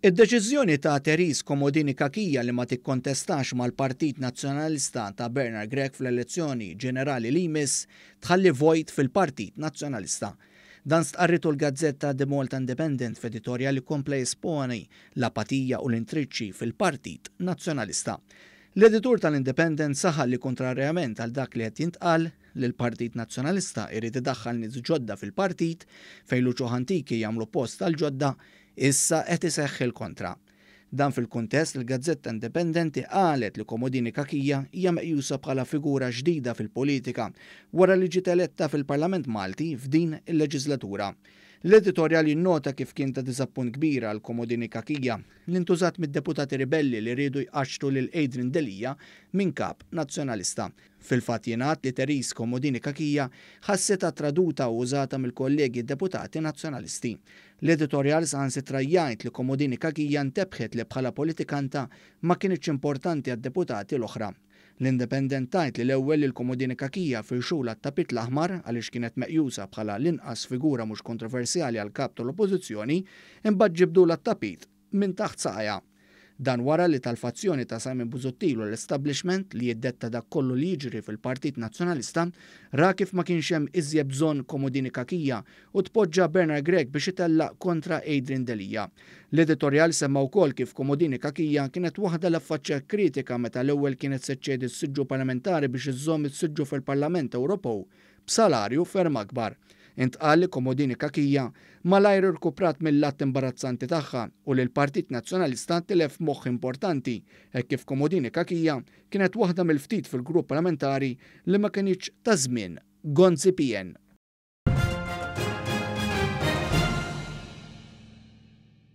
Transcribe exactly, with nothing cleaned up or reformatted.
Id-deċiżjoni ta' Therese Comodini Cachia li ma tikkontestax mal-Partit Nazzjonalista ta' Bernard Grech fl-elezzjoni ġenerali li jmiss tħalli vojt fil-Partit Nazzjonalista. Dan stqarritu l-gazzetta The Malta Independent f'editorjal li kompla jesponi l-apatija u l-intriċċi fil-Partit Nazzjonalista. L-editur tal-Independent saħaq li, kontrarjament għal dak li qed jintqal li l-Partit Nazzjonalista irid idaħħal nies ġodda fil-partit fejn l-uċuħ antiki jagħmlu post għal ġodda, issa qed iseħħ il-kontra. Dan fil-kuntest, il-Gazzetta Indipendenti qalet li Comodini Cachia hija meqjusa bħala figura ġdida fil-politika wara li ġiet eletta fil-Parlament Malti f'din il-leġislatura. L-editorjal jinnota kif kien ta' diżappunt kbira għal Comodini Cachia li ntużat mid-deputati ribelli li riedu jqaċċtu lil Adrian Delia minn kap nazzjonalista. Fil-fatt jingħad li Therese Comodini Cachia ħassitha traduta u użata mill-kollegi deputati nazzjonalisti. L-editorjal saħansitra jgħid li Comodini Cachia ntebħet li bħala politikanta ma kinitx importanti għad-deputati l-oħra. L-Independent tgħid li l-ewwel lil Comodini Cachia firxulha t-tapit l-aħmar għaliex kienet meqjusa bħala l-inqas figura mhux kontroversjali għal kap tal-Oppożizzjoni, imbagħad ġibdulha t-tapit minn taħt saqajha. Dan wara li tal-fazzjoni ta' Simon Busuttil u l-establishment li jiddetta dak kollu li jiġri fil-Partit Nazzjonalista ra kif ma kienx hemm iżjed bżonn Comodini Cachia u tpoġġa Bernard Grech biex itella kontra Adrian Delia. L-editorjal semma wkoll kif Comodini Cachia kienet waħda li affaċċja kritika meta l-ewwel kienet se ċċedi s-siġġu parlamentari biex iżżomm is-siġġu fil-Parlament Ewropew b'salarju ferm akbar. Intqal li Comodini Cachia malajr irkuprat mill-att imbarazzanti tagħha u li l-Partit Nazzjonalista tilef moħħ importanti hekk kif Comodini Cachia kienet waħda mill-ftit fil-grupp parlamentari li ma kinitx ta' żmien Gonzi P N.